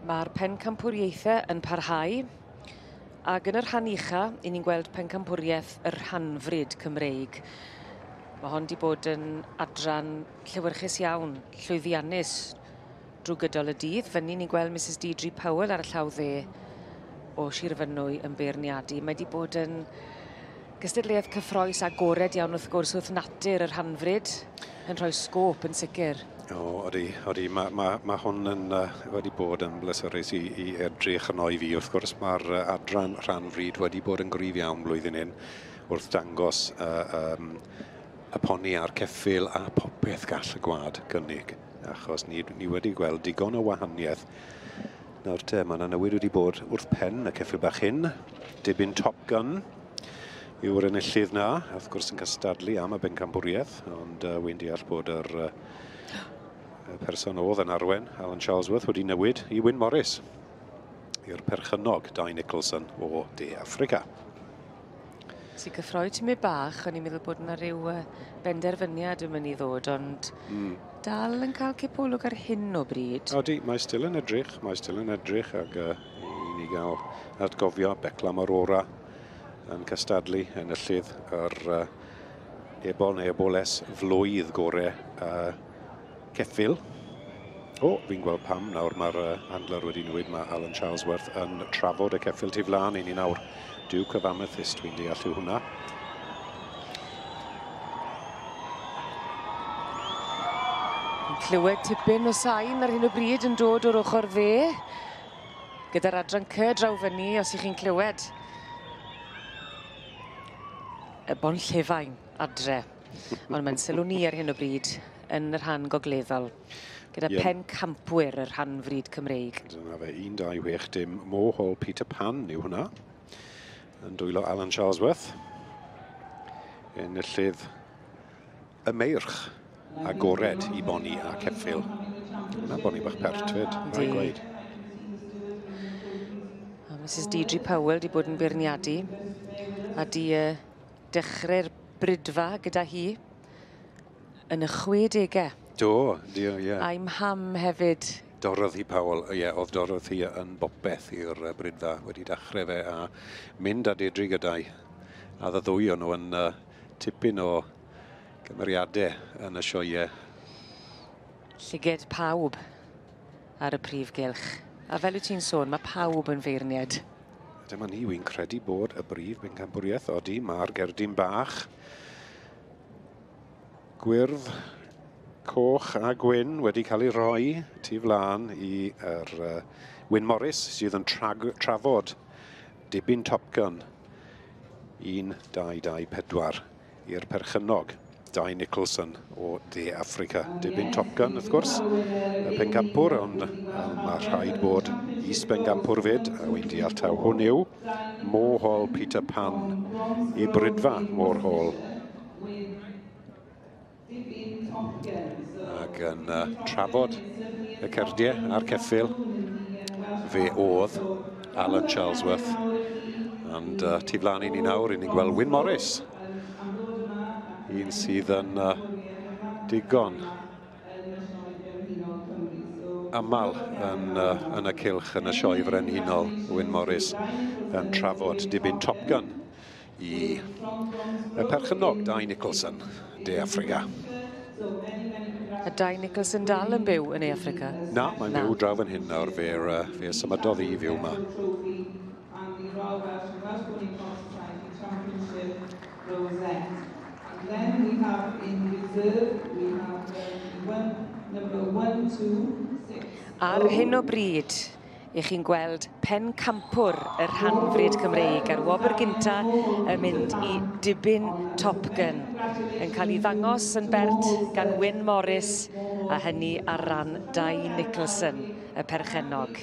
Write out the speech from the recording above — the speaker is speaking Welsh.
Mae'r pencampwriaethau yn parhau, ac yn y rhan ucha, i ni'n gweld pencampwriaeth y rhanfrid Cymreig. Mae hon 'di bod yn adran llewyrchus iawn, llwyddiannus drwy gydol y dydd. Fyny ni'n gweld Mrs Deidre Powell ar y llaw dde o Sir Fynwy yn beirniadu. Mae 'di bod yn gystadleuaeth cyffroes agored iawn wrth gwrs wrth natur y rhanfrid yn rhoi sgôp yn sicr. O, odi, odi. Mae ma, ma hwn yn, wedi bod yn bleserus i edrych arno i fi. Wrth gwrs, mae'r adran rhanfrid wedi bod yn gryf iawn blwyddyn hyn wrth dangos y poni a'r ceffyl a popeth gall y gwlad gynnig. Achos ni wedi gweld digon o wahaniaeth. Nawr te, mae yna newid wedi bod wrth pen y ceffyl bach hyn. Dibyn Top Gun yw'r enillydd na, wrth gwrs yn cystadlu am y bencampwriaeth, ond wy'n deall bod yr y person oedd yn arwen, Alan Charlesworth, wedi newid i Wyn Morris, i'r perchennog Dai Nicholson o De Affrica. Sy'n cyffroi tymed bach, o'n i'n meddwl bod yna rhyw benderfyniad yn mynd i ddod, ond dal yn cael cipolwg ar hyn o bryd. Odi, mae still yn edrych, mae still yn edrych, ac i ni gael atgofio Beclam Aurora yn cystadlu enillydd yr ebol neu eboles flwydd gore ceffyl. O, fi'n gweld pam nawr mae'r handler wedi newid, mae Alan Charlesworth yn trafod y ceffyl tu flaen i ni nawr. Duke of Amethyst, dwi'n deall yw hwnna. Clywed tipyn o sain ar hyn o bryd yn dod o'r ochr dde. Gyda'r adran C draw fyny, os ych chi'n clywed. Y Bonllefain adre. Ond mae'n sylw ni ar hyn o bryd yn y rhan gogleddol. Gyda pencampwyr y rhanfrid Cymreig. Dyna fe, 1, 2, 6, dim. Mohol Peter Pan yw hwnna. Yn dwylo Alan Charlesworth. Enillydd y meirch agored i boni a ceffyl. Hwna boni bach pert fyd, rhaid gweud. A Mrs Deidre Powell di bod yn beirniadu a di dechrau'r brydfa gyda hi yn y 60au. Do, dio, ie. A'i mham hefyd. Dorothy Powell, ie, oedd Dorothy yn bopeth i'r brydfa wedi dechrau fe a mynd â Deidre gyda'i. A y ddwy o'n nhw yn tipyn o gymeriadau yn y sioeau. Llyged pawb ar y prif gylch. A fel wyt ti'n sôn, mae pawb yn feirniad. Dyma ni, wy'n credu bod y brif bencampwriaeth, odi, mae'r gerdyn bach. Gwyrdd, coch a gwyn wedi cael ei rhoi tu flaen i yr Wyn Morris sydd yn trafod dibyn Top Gun 1, 2, 2, 4 i'r perchennog Dai Nicholson o De Affrica. Dibyn Top Gun, wrth gwrs, y pencampwr, ond mae rhaid bod is-bencampwr fyd, a wy'n deall taw hwn yw Mohol Peter Pan i brydfa Mohol. Ac yn trafod y cerdiau a'r ceffyl, fe oedd Alan Charlesworth. And tu flaen i ni nawr, i ni'n gweld Wyn Morris, un sydd yn digon aml yn y cylch yn y sioe frenhinol. Wyn Morris yn trafod dibyn Top Gun i y perchennog Dai Nicholson, De Affrica. A Dai Nicholson dal yn byw yn De Affrica? Na, mae'n byw draw fan hyn nawr, fe symudodd i fyw yma. Ar hyn o bryd, i chi'n gweld pencampwr y rhanfrid Cymreig a'r wobr gynta yn mynd i dibyn Top Gun yn cael ei ddangos yn bert gan Wyn Morris a hynny ar ran Dai Nicholson, y perchennog.